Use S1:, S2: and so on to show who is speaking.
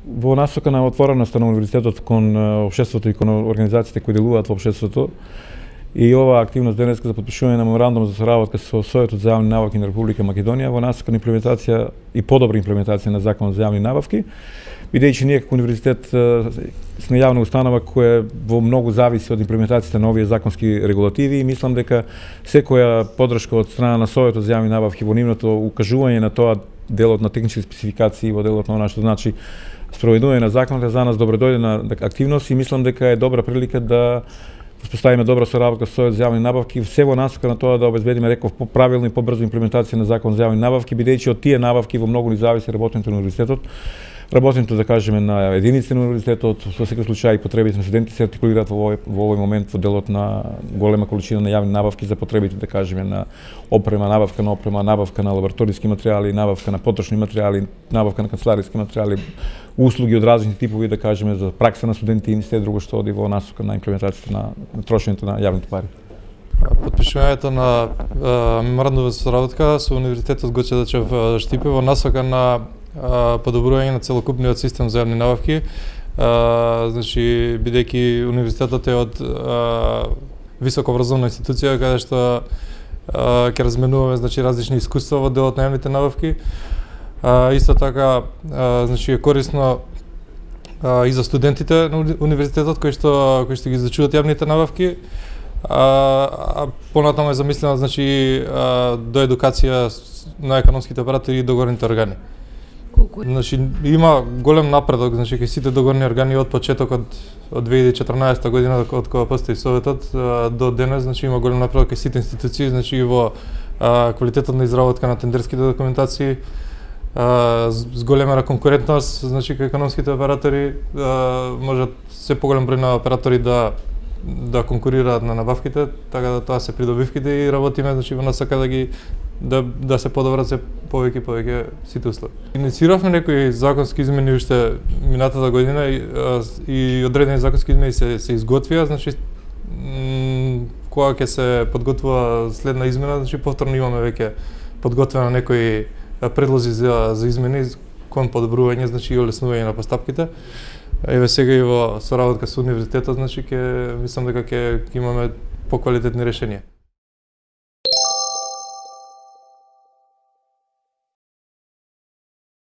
S1: Во насока на отвореноста на универзитетот кон општеството и кон организациите кои делуваат во општеството, и оваа активност денеска за потпишување на меморандум за соработка со Советот за јавни набавки на Република Македонија во насока на имплементација и подобра имплементација на Законот за јавни набавки, бидејќи ние како универзитет сме јавна установа која во многу зависи од имплементацијата на овие законски регулативи и мислам дека секоја поддршка од страна на Советот за јавни набавки во нивното укажување на тоа делот на технички спецификации во делот на она што значи спроведување на законот за нас добродојдена активност и мислам дека е добра прилика да успоставиме добра соработка со Советот за јавни набавки, се во насока на тоа да обезбедиме, реков, поправилна и побрза имплементација на Закон за јавни набавки, бидејќи од тие набавки во многу ни зависи работењето на универзитетот. Работењето, да кажеме, на единиците на универзитетот, во секој случај потребите на студентите се артикулираат во овој момент во делот на голема количина на јавни набавки за потребите, да кажеме, на опрема, набавка на лабораториски материјали, набавка на потрошни материјали, набавка на канцелариски материјали, услуги од различни типови, да кажеме, за пракса на студенти и се друго што оди во насока на имплементацијата на трошењето на јавните пари.
S2: Потпишувањето на меморандум за соработка со Универзитетот Гоце Делчев Штипе во насока на подобрување на целокупниот систем за јавни набавки, значи бидејќи универзитетот е од високообразовна институција каде што ќе разменуваме значи различни искуства во делот на јавните набавки. Исто така значи е корисно и за студентите на универзитетот кои што ги изучуваат јавните набавки. Понатаму е замислено значи до едукација на економските оператори и договорните органи. Значи има голем напредок значи кај сите договорни органи од почетокот од 2014 година од кога постои Советот до денес, значи има голем напредок кај сите институции, значи во квалитетот на изработка на тендерските документации, с голема конкурентност, значи кај економските оператори можат се поголем број на оператори да конкурираат на набавките, така да тоа се придобивките и работиме значи во насока да се подобрат се повеќе сите услови. Иницииравме некои законски измени уште минатата година и одредени законски измени се изготвија, значи кога ќе се подготвува следна измена, значи повторно имаме веќе подготвено некои предлози за измени кон подобрување, значи и олеснување на постапките. Еве сега и во соработка со универзитетот, значи мислам дека ќе имаме поквалитетни решенија.